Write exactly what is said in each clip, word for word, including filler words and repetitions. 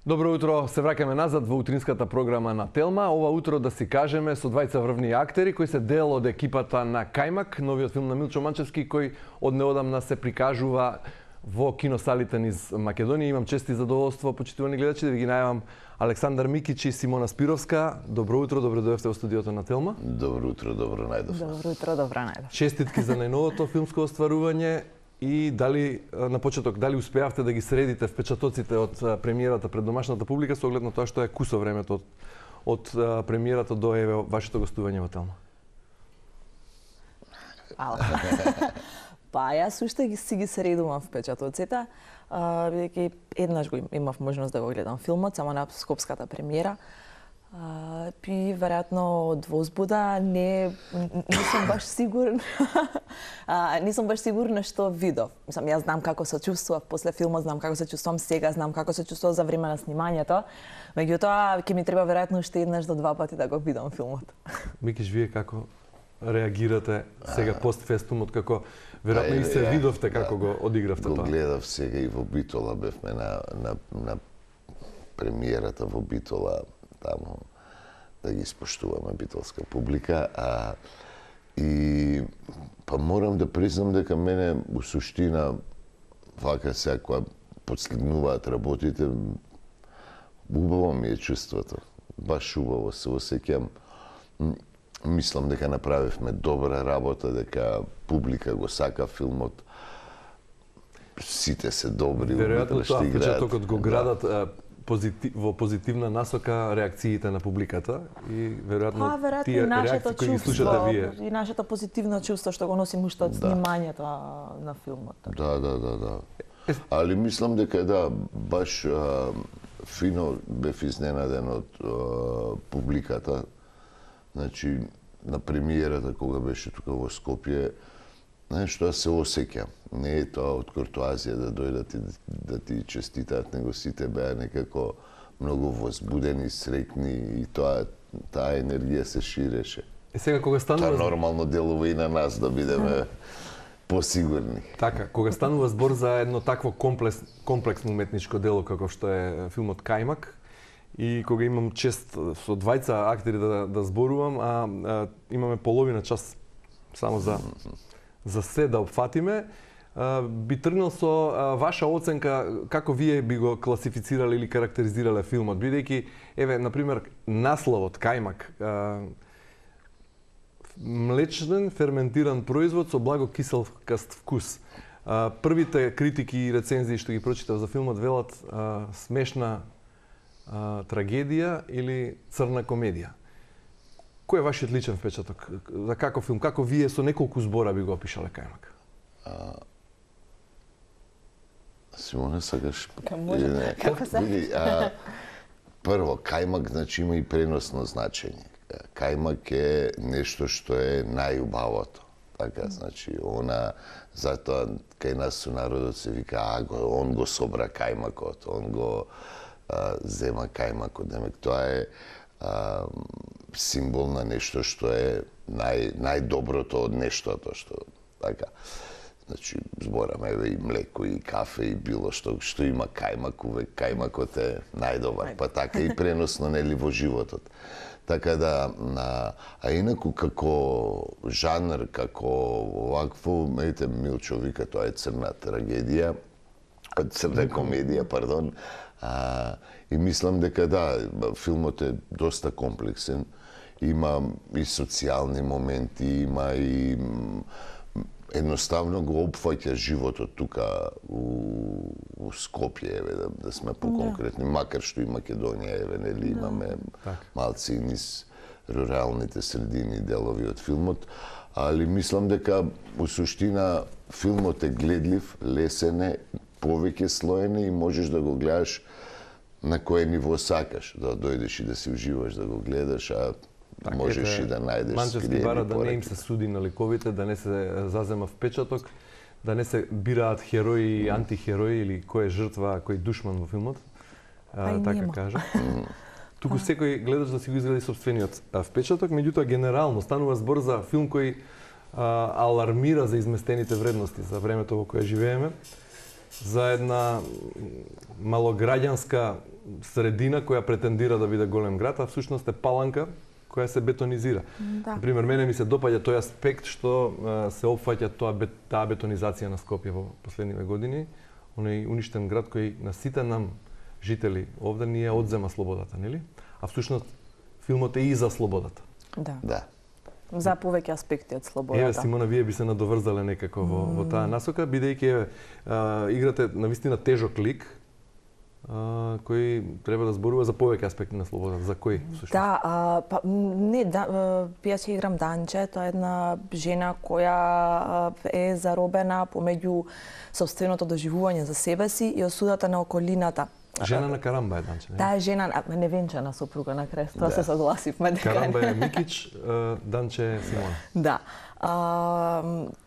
Добро утро, се враќаме назад во утринската програма на Телма. Ова утро да си кажеме со двајца врвни актери кои се дел од екипата на Кајмак, новиот филм на Милчо Манчевски кој од неодамна се прикажува во киносалите низ Македонија. Имам чест и задоволство, почитувани гледачи, да ви ги најавам Александар Микич и Симона Спировска. Добро утро, добро дојдовте во студиото на Телма. Добро утро, добро најдов. Добро утро, добро најдов. Честитки за најновото филмско остварување. И дали на почеток дали успеавте да ги средите впечатоците од премиерата пред домашната публика со оглед на тоа што е кусо времето од, од премиерата до еве вашето гостување во Телма? Ала. Па јас уште ги си ги средувам впечатоците, бидејќи еднаш го имав можност да го гледам филмот само на скопската премиера. Uh, пи веројатно од возбуда не не сум баш сигурна. uh, не сум баш сигурна што видов. Мислам, јас знам како се чувствував после филмот, знам како се чувствувам сега, знам како се чувствував за време на снимањето. Меѓутоа ќе ми треба веројатно уште еднаш до два пати да го видам филмот. Микиш, вие како реагирате сега постфестумот, како веројатно и се видовте како да, го одигравте го тоа? Го гледав сега и во Битола, бевме на, на, на премиерата во Битола, таму да ги испоштуваме битолска публика, а и па морам да признам дека мене у суштина вака сега кога подслигнуваат работите, убаво ми е чувството. Баш убаво се осеќам. Мислам дека направивме добра работа, дека публика го сака филмот. Сите се добри, веројатно тоа впечатокот го градат да. Позитив, во позитивна насока реакциите на публиката и веројатно па, веројатно тие и нашето реакции кои ги чувство, слушате вие. И нашето позитивно чувство што го носим уште од Да. снимањето на филмот. Да, да, да, да. Али мислам дека да, баш а, фино бев изненаден од а, публиката. Значи, на премиерата кога беше тука во Скопје, знаеш, тоа се осеќа. Не е тоа од куртоазија да дојдат и да ти честитаат, него сите беа некако многу возбудени, среќни и тоа таа енергија се ширеше. И сега кога станува Тоа нормално делува и на нас да бидеме посигурни. Така, кога станува збор за едно такво комплекс, комплексно уметничко дело како што е филмот Кајмак, и кога имам чест со двајца актери да, да зборувам, а, а имаме половина час само за за се да опфатиме, а, би тргнал со а, ваша оценка како вие би го класифицирале или карактеризирале филмот, бидејќи еве на пример насловот Кајмак, а, млечен ферментиран производ со благо киселкаст вкус. А, првите критики и рецензии што ги прочитав за филмот велат а, смешна а, трагедија или црна комедија. Кој е вашиот личен впечаток? За како филм? Како вие со неколку збора би го опишале Кајмак? А, Симона, сакаш? Ка може, Не, како се? види, а, прво, Кајмак значи има и преносно значење. Кајмак е нешто што е најубавото. Така, значи, она, затоа кај нас со народот се вика, а, го, он го собра кајмакот, он го а, зема кајмакот. Демек, тоа е а, символ на нешто што е нај, најдоброто од нештото, што, така. Значи, збораме еве и млеко, и кафе, и било што, што има кајмак, увек кајмакот е најдобар, па така и преносно, нели, во животот. Така да, на, а инаку како жанр, како овакво, мејте Милчо вика, тоа е црна трагедија, црна комедија, пардон, а, и мислам дека да, филмот е доста комплексен, има и социјални моменти, има и едноставно го опфаќа животот тука у, у Скопје, еве, да, да сме поконкретни, да. Макар што и Македонија, еве, нели, да. Имаме так. Малци и низ руралните средини делови од филмот, али мислам дека у суштина филмот е гледлив, лесен е, повеќе слоен и можеш да го гледаш на кое ниво сакаш, да дојдеш и да си уживаш да го гледаш, а так, можеш ете, и да најдеш Манчевски бара да не им се суди на ликовите, да не се зазема впечаток, да не се бираат херои и антихерои или кој е жртва, кој е душман во филмот, а, така нема. Кажа. Туку секој гледач да си го изгради собствениот впечаток, меѓутоа генерално станува збор за филм кој а, алармира за изместените вредности за времето во кое живееме. за една малограѓанска средина која претендира да биде голем град, а всушност е Паланка која се бетонизира. Да. Например, мене ми се допаѓа тој аспект што се опфаќа тоа таа бетонизација на Скопје во последниве години, оној уништен град кој на сите нам жители овде ни ја одзема слободата, нели? А всушност филмот е и за слободата. Да. Да. За повеќе аспекти од слободата. Еве, Симона, вие би се надоврзале некако во, во таа насока, бидејќи еве играте навистина тежок лик, а, кој треба да зборува за повеќе аспекти на слободата. За кој всушност? Да, а, па, не, да, ја ќе играм Данче, тоа е една жена која е заробена помеѓу сопственото доживување за себе си и осудата на околината. Жена на Карамба е Данче, не? Таа е жена, невенчана сопруга на крај, тоа Да. се согласивме дека. Карамба е Микич, Данче е Симона. Да. А,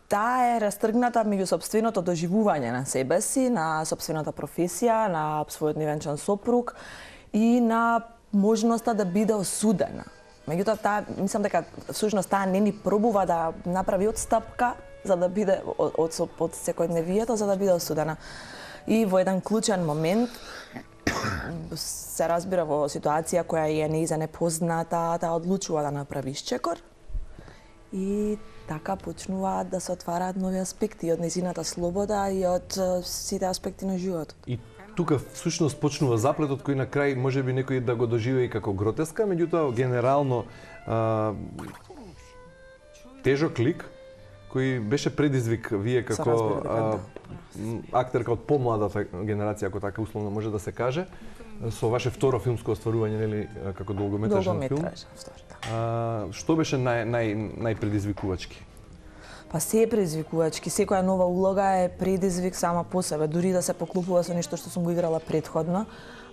таа е растргната меѓу сопственото доживување на себе си, на сопствената професија, на својот невенчан сопруг и на можноста да биде осудена. Меѓутоа, таа, мислам дека всушност таа не ни пробува да направи одстапка за да биде од, од, од секојдневието, за да биде осудена. И во еден клучен момент се разбира во ситуација која е нејза непозната, таа одлучува да направи исчекор и така почнуваат да се отвараат нови аспекти од нејзината слобода и од сите аспекти на животот. И тука всушност почнува заплетот кој на крај можеби некој да го доживее како гротеска, меѓутоа генерално а, тежок лик кој беше предизвик вие како разбира дека а, актерка од помладата генерација, ако така условно може да се каже, со ваше второ филмско остварување, нели, како долгометражен филм. Долгометражен, втори, да. А, што беше нај нај најпредизвикувачки? Па се е предизвикувачки, секоја нова улога е предизвик сама по себе, дури да се поклопува со нешто што сум го играла претходно,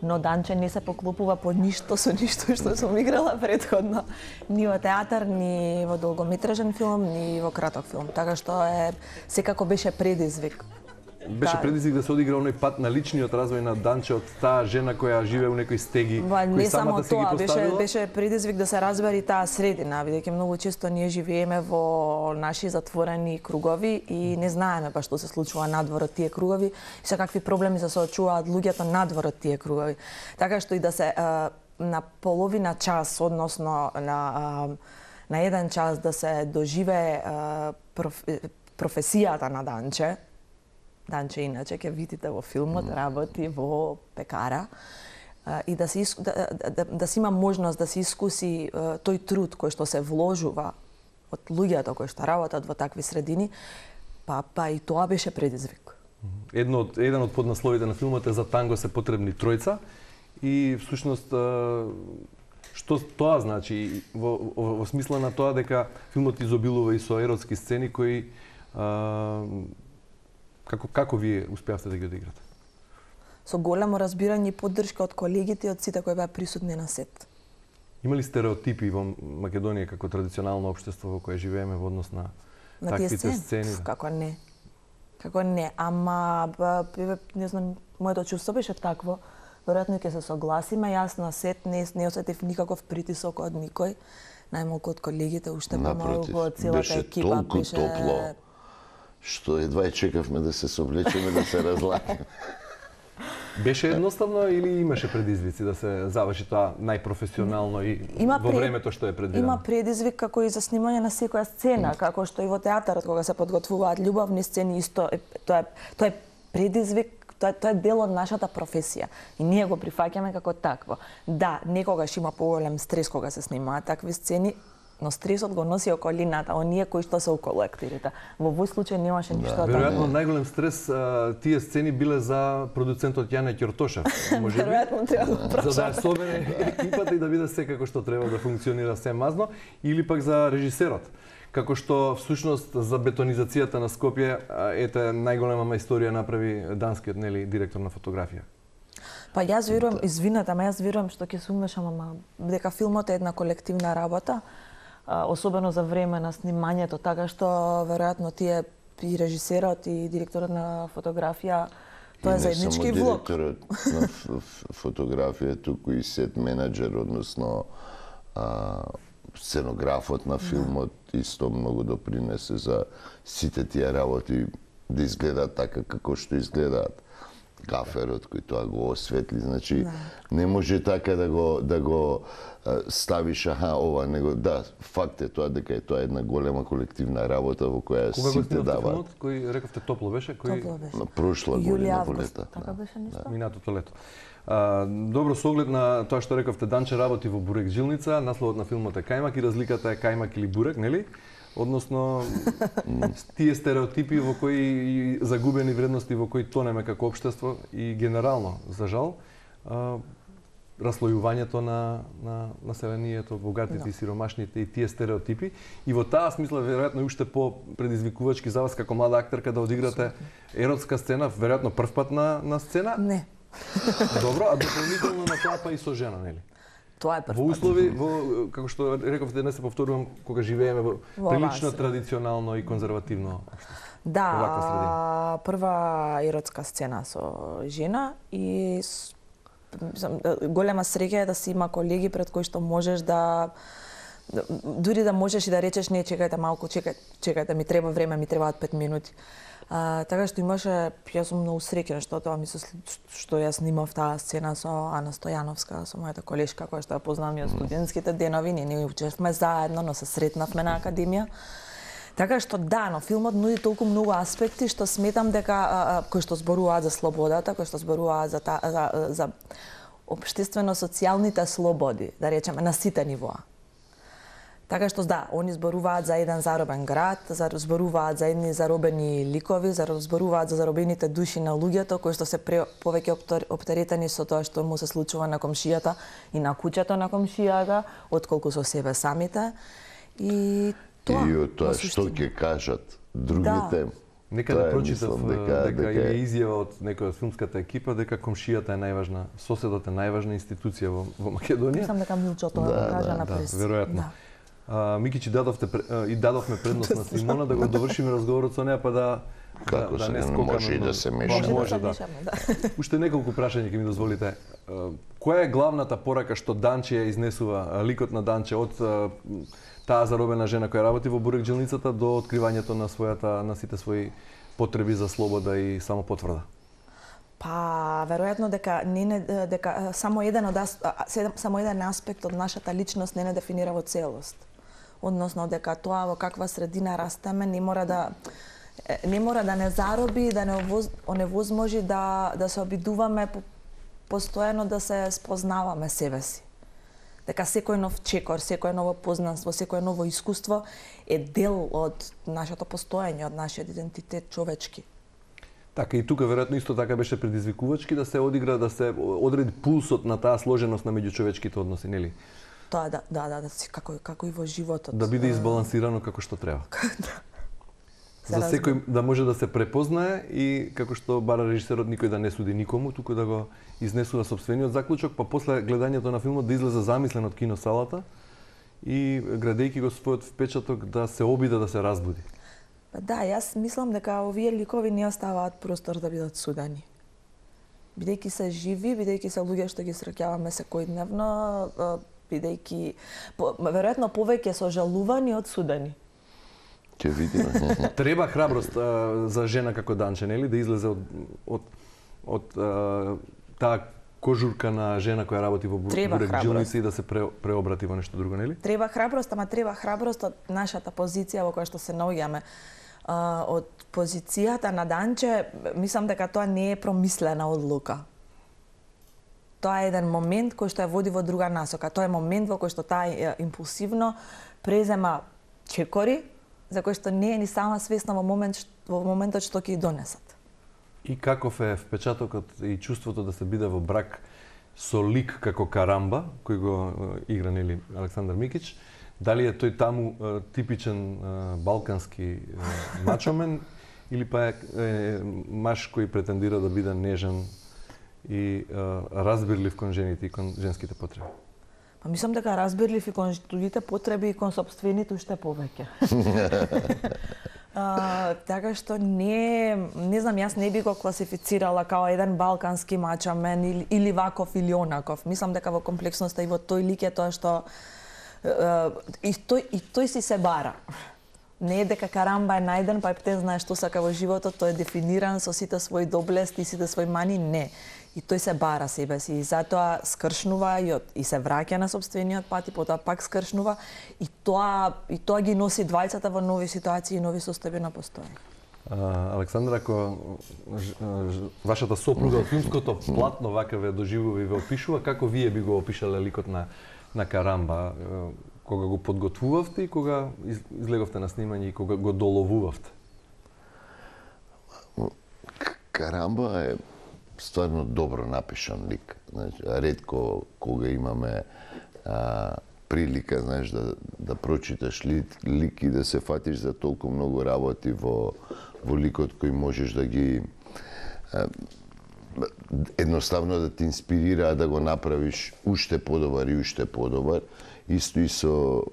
но Данче не се поклопува по ништо со ништо што сум играла претходно, ни во театар, ни во долгометражен филм, ни во краток филм, така што е секако беше предизвик. Беше Да. предизвик да се одигра оној пат на личниот развој на Данче од таа жена која живее у некои стеги, Ба, кои не само самата си ги тоа, беше, поставила. беше предизвик да се разбери таа средина, бидејќи многу често ние живееме во наши затворени кругови и не знаеме па што се случува надвор од тие кругови и со какви проблеми се соочуваат луѓето надвор од тие кругови. Така што и да се а, на половина час, односно на а, на еден час да се доживее а, проф, професијата на Данче. Данче иначе ќе видите во филмот, работи во пекара а, и да се иску, да, да, да, да се има можност да се искуси а, тој труд кој што се вложува од луѓето кои што работат во такви средини, па па и тоа беше предизвик. Едно од еден од поднасловите на филмот е за танго се потребни тројца и всушност а, што тоа значи во, во, во смисла на тоа дека филмот изобилува и со еротски сцени кои а, Како, како вие успеавте да ги одиграте? Со големо разбирање и поддршка од колегите и од сите кои беа присутни на сет. Има ли стереотипи во Македонија како традиционално општество во кое живееме во однос на, На тие таквите сцени? сцени? Пф, како не. Како не, ама ба, не знам, моето чувство беше такво. Веројатно ќе се согласиме, јас на сет не, не осетив никаков притисок од никој, најмалку од колегите, уште помалку од целата беше екипа. толку топло, што едва и чекавме да се соблечеме, да се разлакиме. Беше едноставно или имаше предизвици да се заврши тоа најпрофесионално и Има во пред- времето што е предвидено? Има предизвик како и за снимање на секоја сцена, како што и во театарот кога се подготвуваат љубавни сцени, исто е, тоа е тоа е предизвик, тоа, тоа е дел од нашата професија и ние го прифаќаме како такво. Да, некогаш има поголем стрес кога се снимаат такви сцени, но стресот го носи околината, оние кои што се околу актерите. Во овој случај немаше ништо од Веројатно тоа. најголем стрес а, тие сцени биле за продуцентот Јане Ќортошев, можеби. Веројатно треба да За да ја собере екипата и да биде се како што треба да функционира се мазно, или пак за режисерот. Како што всушност за бетонизацијата на Скопје, а, ете најголема историја направи данскиот, нели, директор на фотографија. Па јас верувам, извинете, ама јас верувам што ќе се умешам, ама дека филмот е една колективна работа, а, особено за време на снимањето, така што веројатно тие и режисерот и директорот на фотографија, тоа е заеднички влог. И не само директорот на ф- ф- фотографија, туку и сет менеджер, односно а, сценографот на филмот исто многу допринесе за сите тие работи да изгледаат така како што изгледаат. Гаферот кој тоа го осветли, значи да. Не може така да го да го ставиш аха ова, него да, факт е тоа дека е тоа една голема колективна работа во која Кога сите даваат. Кој рековте топло беше, кој Топло беше. На прошла година во лето. Така беше нешто? Да. Минатото лето. А, добро, со оглед на тоа што рековте, Данче работи во бурек жилница, насловот на филмот е Кајмак и разликата е кајмак или бурек, нели? Односно, тие стереотипи во кои загубени вредности во кои тонеме како општество и генерално, за жал, а, раслојувањето на, на населението, богатите no. и сиромашните и тие стереотипи. И во таа смисла, веројатно, уште по предизвикувачки за вас како млада актерка да одиграте еротска сцена, веројатно прв пат на, на сцена? Не. Добро, а дополнително на тоа па и со жена, нели? Тоа е прв пат. Во услови, во, како што рековте, не се повторувам, кога живееме во, во прилично вас. Традиционално и конзервативно општество. Да, прва еротска сцена со жена и с, голема среќа е да си има колеги пред кои што можеш да дури да можеш и да речеш не, чекајте малку, чекај, чекајте, ми треба време, ми требаат пет минути. А, така што имаше, јас сум многу среќна што тоа ми се што јас снимав таа сцена со Ана Стојановска, со мојата колешка која што ја познавам и од студентските денови, ние не учевме заедно, но се сретнавме на академија. Така што да, но филмот нуди толку многу аспекти што сметам дека а, кои што зборуваат за слободата, кои што зборуваат за та, за, за општествено-социјалните слободи, да речеме на сите нивоа. Така што да, они зборуваат за еден заробен град, за зборуваат за едни заробени ликови, за зборуваат за заробените души на луѓето кои што се пре, повеќе оптеретени со тоа што му се случува на комшијата и на куќето на комшијата, отколку со себе самите. И тоа, и од тоа што ќе кажат другите. Да. Нека да прочитав дека, дека, дека е изјава од некој од филмската екипа дека комшијата е најважна, соседот е најважна институција во, во Македонија. Мислам дека Милчо тоа да, кажа да, на прес. Да, веројатно. Да. А, Микичи дадовте и дадовме предност на Симона да го довршиме разговорот со неа па да Како да, да не скокаме. Може и да се мешаме. Може да. да. Уште неколку прашања ќе ми дозволите. Која е главната порака што Данче ја изнесува, ликот на Данче од таа заробена жена која работи во бурек жилницата до откривањето на својата на сите своји потреби за слобода и самопотврда? Па, веројатно дека не не дека само еден од само еден аспект од нашата личност не не дефинира во целост. Односно дека тоа во каква средина растеме не мора да не мора да не зароби, да не оневозможи да да се обидуваме по, постојано да се спознаваме себе си. Дека секој нов чекор, секој ново познанство, секој ново искуство е дел од нашето постоење, од нашиот идентитет човечки. Така и тука веројатно исто така беше предизвикувачки да се одигра, да се одреди пулсот на таа сложеност на меѓучовечките односи, нели? Тоа да, да, да, да како како и во животот. Да биде избалансирано како што треба. Да. За секој да може да се препознае и како што бара режисерот никој да не суди никому, туку да го изнесува сопствениот заклучок, па после гледањето на филмот да излезе замислен од киносалата и градејќи го својот впечаток да се обиде да се разбуди. Па да, јас мислам дека овие ликови не оставаат простор да бидат судени. Бидејќи се живи, бидејќи се луѓе што ги среќаваме секојдневно, бидејќи веројатно повеќе сожалувани од судени. Ќе видиме. Треба храброст а, за жена како Данче, нели, да излезе од од од а, таа кожурка на жена која работи во бурек жилници и да се пре, преобрати во нешто друго, нели? Треба храброст, ама треба храброст од нашата позиција во која што се наоѓаме. Uh, од позицијата на Данче, мислам дека тоа не е промислена одлука. Тоа е еден момент кој што ја води во друга насока. Тоа е момент во кој што таа импулсивно презема чекори за кои што не е ни сама свесна во момент во моментот што ќе ги донесат. И каков е впечатокот и чувството да се биде во брак со лик како Карамба, кој го игра нели Александар Микич? Дали е тој таму е, типичен е, балкански е, мачомен или па е, е маж кој претендира да биде нежен и е, разбирлив кон жените и кон женските потреби? Па мислам дека разбирлив и кон другите потреби и кон сопствените уште повеќе. А, така што не, не знам, јас не би го класифицирала као еден балкански мачамен или, или ваков или онаков. Мислам дека во комплексноста и во тој лик е тоа што и тој, и тој си се бара. не е дека Карамба е најден, па те знае што сака во животот, тој е дефиниран со сите своји доблести и сите своји мани, не. И тој се бара себе си и затоа скршнува и, од, и се враќа на собствениот пат и потоа пак скршнува и тоа и тоа ги носи двајцата во нови ситуации и нови состојби на постојање. Александра, ако вашата сопруга од филмското платно вака ве доживува и ве опишува, како вие би го опишале ликот на на Карамба, кога го подготвувавте и кога излеговте на снимање и кога го доловувавте? Карамба е стварно добро напишан лик. Значи, ретко кога имаме а, прилика, знаеш, да, да прочиташ лик, лик и да се фатиш за толку многу работи во, во ликот кој можеш да ги а, едноставно да те инспирира да го направиш уште подобар и уште подобар. Исто и со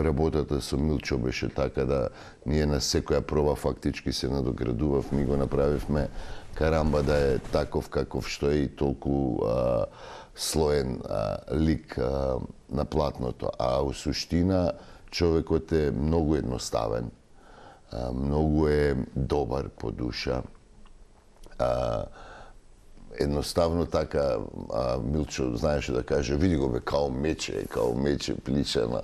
работата со Милчо беше така да ние на секоја проба фактички се надоградував, ми го направивме Карамба да е таков каков што е и толку а, слоен а, лик а, на платното. А у суштина човекот е многу едноставен, а, многу е добар по душа. А, едноставно така а, Милчо знаеше да каже, види го бе, као мече, као мече пличана.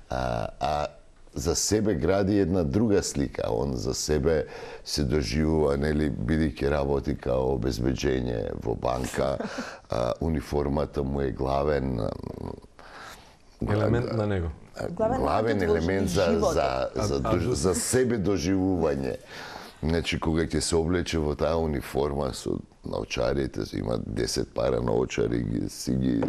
А, а за себе гради една друга слика. Он за себе се доживува, нели, бидејќи работи као обезбеđење во банка, а, униформата му е главен елемент на него. Главен, главен елемент за, за, за, а, за, за себе доживување. Значи, кога ќе се облече во таа униформа со наочарите, има десет пара наочари, ги, си ги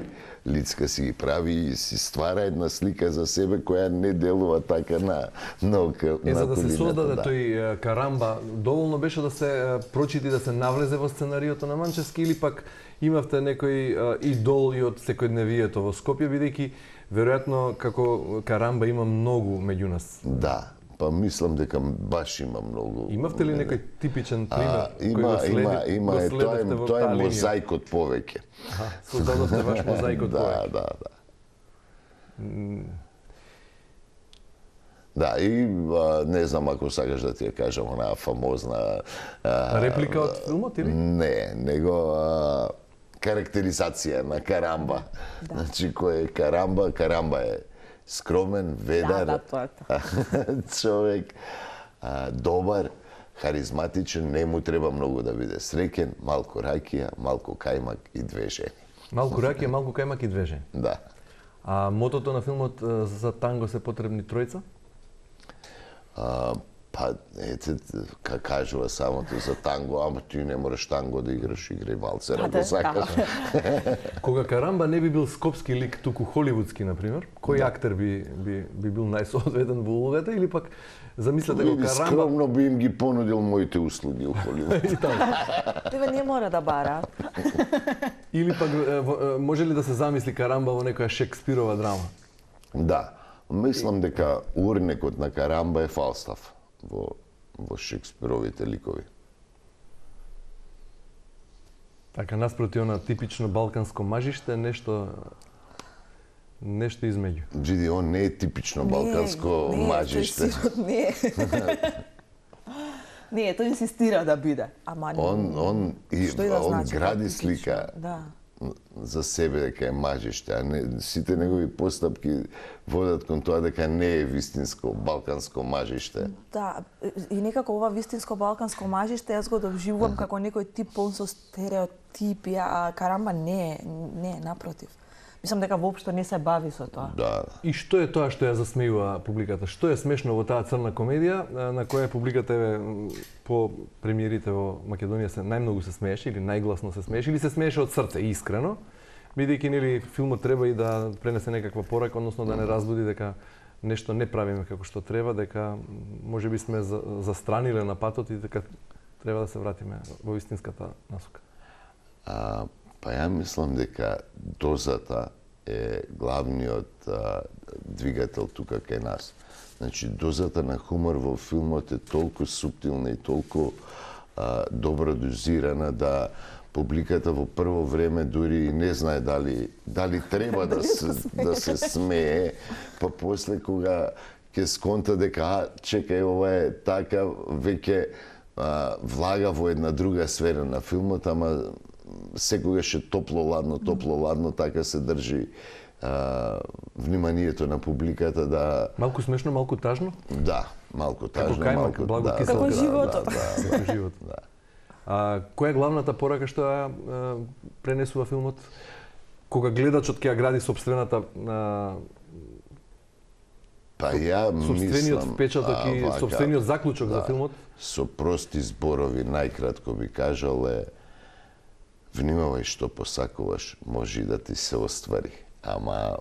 лицка си ги прави и си ствара една слика за себе која не делува така на на ока, е, на за да се создаде да. тој Карамба, доволно беше да се прочити, да се навлезе во сценариото на Манчевски или пак имавте некој идол и од секојдневието во Скопје, бидејќи веројатно како Карамба има многу меѓу нас. Да. Па мислам дека баш има многу. Имавте ли некој типичен пример а, има, кој го следи, има, има, го е, тоа е, тоа е мозаикот повеќе. Аха, создадовте ваш мозаикот повеќе. Да, да, да. Да, и а, не знам ако сакаш да ти ја кажам онаа фамозна а, реплика од филмот или? Не, него а, карактеризација на Карамба. Да. Значи кој е Карамба, Карамба е скромен, ведар, да, да, тоа, тоа. човек, а, добар, харизматичен, не му треба многу да биде среќен, малку ракија, малку кајмак и две жени. Малку ракија, малку кајмак и две жени. Да. А мотото на филмот за танго се потребни тројца? А, па, ете, ка кажува самото за танго, ама ти не мораш танго да играш, играј валцер, ако да, сакаш. Да. Кога Карамба не би бил скопски лик, туку холивудски, например, кој да. актер би, би, би бил најсоодветен во улогата или пак замислете го Карамба... Скромно би им ги понудил моите услуги у Холивуд. Тебе не мора да бара. Или пак може ли да се замисли Карамба во некоја Шекспирова драма? Да. Мислам дека урнекот на Карамба е Фалстаф во, во Шекспировите ликови. Така, наспроти она типично балканско мажиште, нешто нешто измеѓу. Види, он не е типично балканско не, мажиште. Не, не, тој инсистира да биде. Ама он он и што и да он значи, гради слика. Да. За себе дека е мажиште, а не сите негови постапки водат кон тоа дека не е вистинско балканско мажиште. Да, и некако ова вистинско балканско мажиште јас го довживувам како некој тип пон со стереотипи, а Карамба не е, не е, напротив. Мислам дека воопшто не се бави со тоа. Да. И што е тоа што ја засмејува публиката? Што е смешно во таа црна комедија на која публиката е по премиерите во Македонија се најмногу се смееше или најгласно се смееше или се смееше од срце искрено, бидејќи нели филмот треба и да пренесе некаква порака, односно да не разбуди дека нешто не правиме како што треба, дека можеби сме застраниле на патот и дека треба да се вратиме во вистинската насока. А, Па ја мислам дека дозата е главниот а, двигател тука кај нас. Значи, дозата на хумор во филмот е толку суптилна и толку а, добро дозирана да публиката во прво време дури не знае дали дали треба да се да се смее, па после кога ќе сконта дека а, чекај, ова е така, веќе а, влага во една друга сфера на филмот, ама секогаш е топло-ладно, топло-ладно, така се држи а, вниманието на публиката да... Малку смешно, малку тажно? Да, малку тажно, Како кајмак, малку... благо да, кисел. Како да, животот. Да, да, Како живот. да. А која е главната порака што ја пренесува филмот? Кога гледачот ќе ја гради сопствената а, Па ја сопствениот мислам... впечаток и вака, сопствениот заклучок да, за филмот? Со прости зборови, најкратко би кажал е внимавај што посакуваш, може и да ти се оствари. Ама...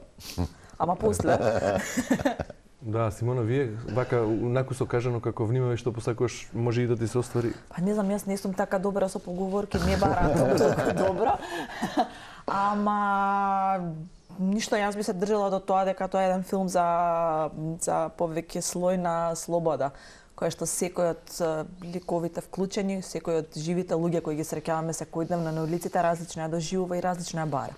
Ама после. Да, Симона, вие вака накусо кажано како внимавај што посакуваш, може и да ти се оствари. Па не знам, јас не сум така добра со поговорки, не баратам толку добро. Ама ништо, јас би се држала до тоа дека тоа е еден филм за за повеќе слој на слобода, која што секој од ликовите вклучени, секој од живите луѓе кои ги среќаваме секојдневно на улиците, различно ја доживува и различно ја бара.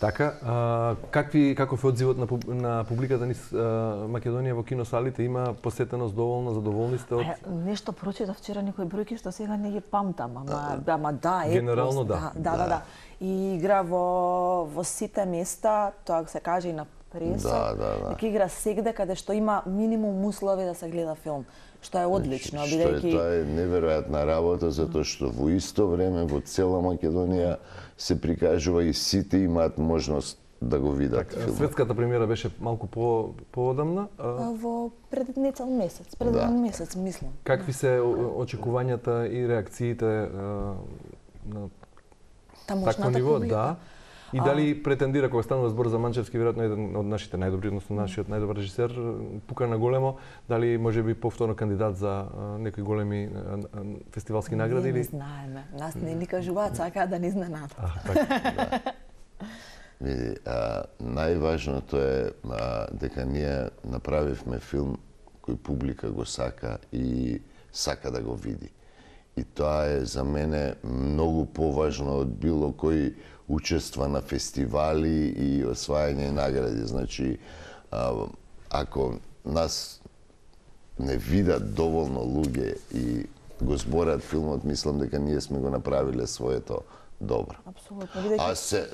Така, а, какви каков е одзивот на, пуб, на публиката низ а, Македонија во киносалите? Има посетеност доволна, задоволни сте од... Е, нешто прочитав вчера некои бројки што сега не ги памтам, ама ама да, е. Генерално да. Да, да, да. И игра во во сите места, тоа се каже и на преса. Да, да, да. Дека игра сегде каде што има минимум услови да се гледа филм, што е одлично, Што е, бидејќи тоа е неверојатна работа, затоа што во исто време во цела Македонија се прикажува и сите имаат можност да го видат Так, филмот. светската премиера беше малку по поодамна. А, во пред нецел месец, пред Да. еден месец, мислам. какви се о- очекувањата и реакциите а, на Тамошната такво ниво? публика. Да. И дали претендира, кога станува збор за Манчевски, веројатно еден од нашите најдобри, односно нашиот најдобар режисер, пука на големо, дали може би повторно кандидат за а, некои големи а, а, фестивалски награди? Не, не или... знаеме. Нас не ни кажуваат, сакаат да ни изненадат. А, така. Види, а, најважното е а, дека ние направивме филм кој публика го сака и сака да го види. И тоа е за мене многу поважно од било кој учества на фестивали и освајање награди. Значи, а, ако нас не видат доволно луѓе и го зборат филмот, мислам дека ние сме го направиле своето добро. Апсолутно. Бидејќи А се,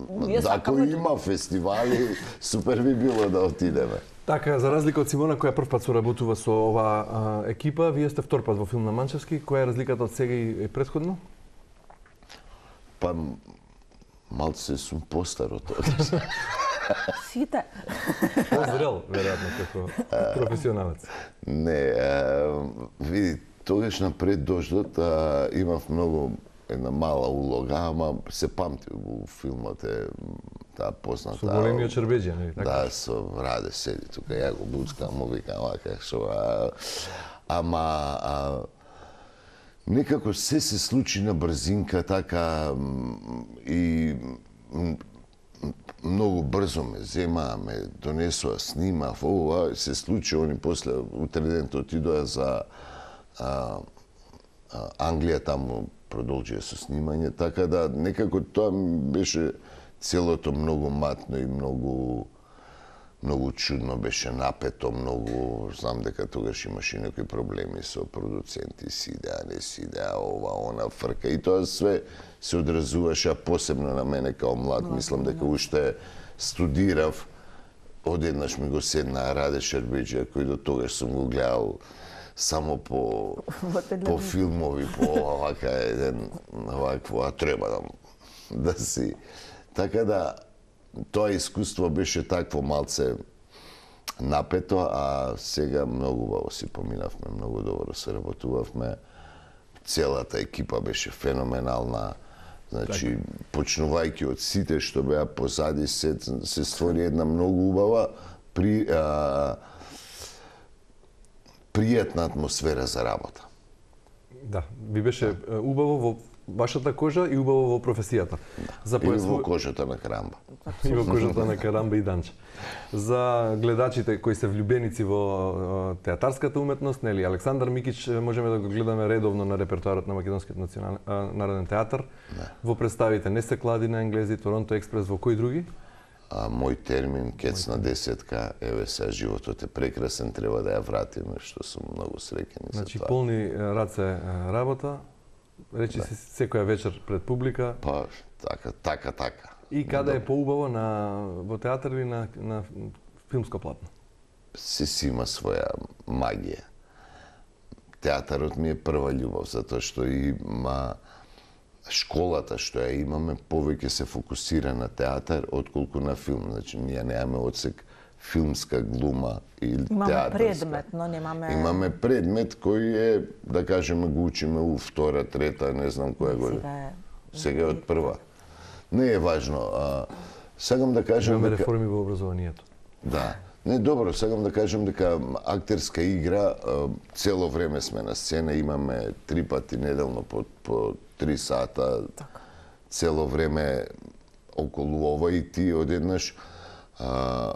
Ние ако сакаме има фестивали, супер би било да отидеме. Така, за разлика од Симона, која прв пат соработува со ова а, екипа, вие сте втор пат во филм на Манчевски. Која е разликата од сега и предходно? Па, малце сум постар од тоа. сите. Позрел, веројатно, како професионалец. Не, а, види, тогаш напред дождот а, имав многу една мала улога, ама се памти во филмот е таа позната. Со големиот Чербеџија, нели така? Да, со Раде седи тука, ја го буцкам, му викам вака, шо, а, ама а, некако се се случи на брзинка, така м, и м, многу брзо ме зема, ме донесоа, снимав, ова се случи, они после утредент отидоа за а, а, Англија, таму продолжија со снимање, така да некако тоа ми беше целото многу матно и многу многу чудно, беше напето, многу, знам дека тогаш имаше некои проблеми со продуценти, си идеа, не си идеа, ова, она, фрка, и тоа све се одразуваше, а посебно на мене као млад, мислам дека уште студирав, одеднаш ми го седна Раде Шербеџија, кој до тогаш сум го гледал само по по филмови, по овака еден овакво, а треба да да си. Така да тоа искуство беше такво малце напето, а сега многу убаво си поминавме, многу добро се работувавме. Целата екипа беше феноменална. Значи, почнувајќи од сите што беа позади, се, се створи една многу убава при а, пријатна атмосфера за работа. Да, ви беше е, убаво во вашата кожа и убаво во професијата. За Или појасну- во кожата на Карамба. и во кожата на Карамба и Данче. За гледачите кои се влюбеници во е, театарската уметност, нели Александар Микич е, можеме да го гледаме редовно на репертоарот на Македонскиот национален народен театар. Во представите Не се клади на енглези, Торонто експрес, во кои други? а, мој термин, кец на десетка, еве сега животот е прекрасен, треба да ја вратиме, што сум многу среќен за Значи тоа. полни раце работа, речи се секоја вечер пред публика. Па, така, така, така. И каде е поубаво, на во театар или на на филмско платно? Се си има своја магија. Театарот ми е прва љубов, затоа што има школата што ја имаме повеќе се фокусира на театар отколку на филм. Значи ние немаме одсек филмска глума или Имаме театарска. предмет, но немаме... Имаме предмет кој е, да кажеме, го учиме у втора, трета, не знам која година. Сега е... Сега е од прва. Не е важно. А, сакам да кажам Имаме дека... реформи во образованието. Да. Не, добро, сакам да кажам дека актерска игра, а, цело време сме на сцена, имаме три пати неделно по, по три сата, Така. цело време околу ова и ти одеднаш а,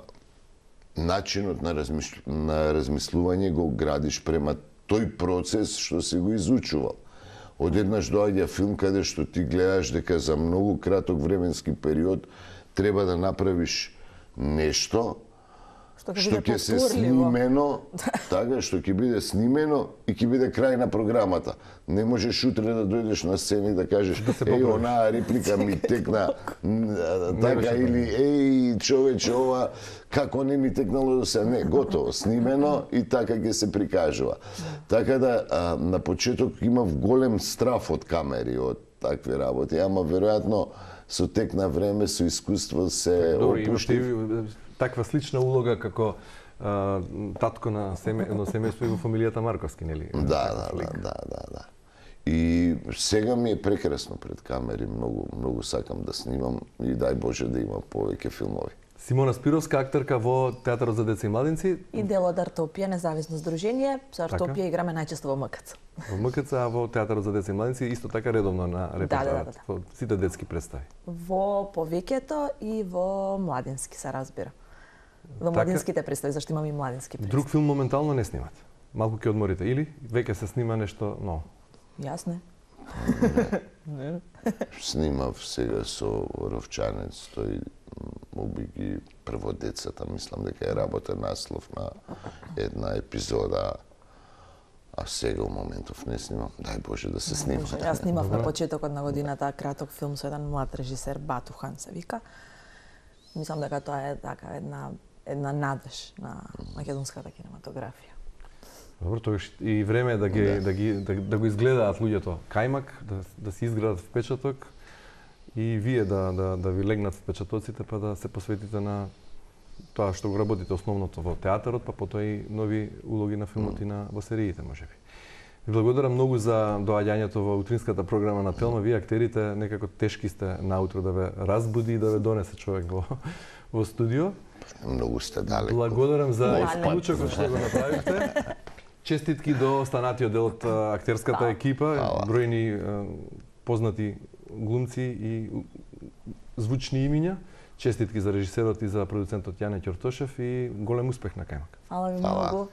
начинот на, размиш... на размислување го градиш према тој процес што си го изучувал. Одеднаш доаѓа филм каде што ти гледаш дека за многу краток временски период треба да направиш нешто Што ќе што биде ќе се повторливо. снимено, така, што ќе биде снимено и ќе биде крај на програмата. Не можеш утре да дојдеш на сцена и да кажеш, еј, онаа реплика ми текна н- така, или еј, човече, ова, како не ми текнало до сега. Не, готово, снимено и така ќе се прикажува. Така да, а, на почеток имав голем страф од камери, од такви работи, ама веројатно со тек на време, со искуство се Добро, имате опуштив. и таква слична улога како а, татко на семе, едно семејство и во фамилијата Марковски, нели? Да, да, да, да, да, да. И сега ми е прекрасно пред камери, многу, многу сакам да снимам и дај Боже да има повеќе филмови. Симона Спировска, актерка во Театарот за деца и младинци, И дел од Артопија, независно здружение. Со Така. Артопија играме најчесто во МКЦ. во МКЦ, а во Театарот за деца и младинци исто така редовно на да, репертоарот, да, да. во сите детски представи. Во повеќето и во младински се разбира. Во Така. младинските представи, зашто имаме и младински представи. Друг филм моментално не снимате. Малку ќе одморите или веќе се снима нешто ново. Јасно е. Снимав сега со Ровчанец, тој уби ги прво децата, мислам дека е работен наслов на една епизода, а сега у моментов не снимам. Дај Боже да се снима. Јас снимав на почетокот на годината краток филм со еден млад режисер, Батухан се вика. Мислам дека тоа е така една една надеж на македонската кинематографија. Добро, тогаш и време е да ги Да. да ги да, да го изгледаат луѓето кајмак, да да си изградат впечаток и вие да да да ви легнат впечатоците па да се посветите на тоа што го работите основното во театарот, па потоа и нови улоги на филмот и на во сериите можеби. Ви благодарам многу за доаѓањето во утринската програма на Телма. Вие актерите некако тешки сте наутро да ве разбуди и да ве донесе човек во во студио. Многу сте далеко. Благодарам за Мој исклучокот што го направивте. Честитки до останатиот дел од а, актерската Да. екипа, Фала. бројни а, познати глумци и у- звучни имиња. Честитки за режисерот и за продуцентот Јане Ќортошев и голем успех на кајмак. Фала ви Фала. многу.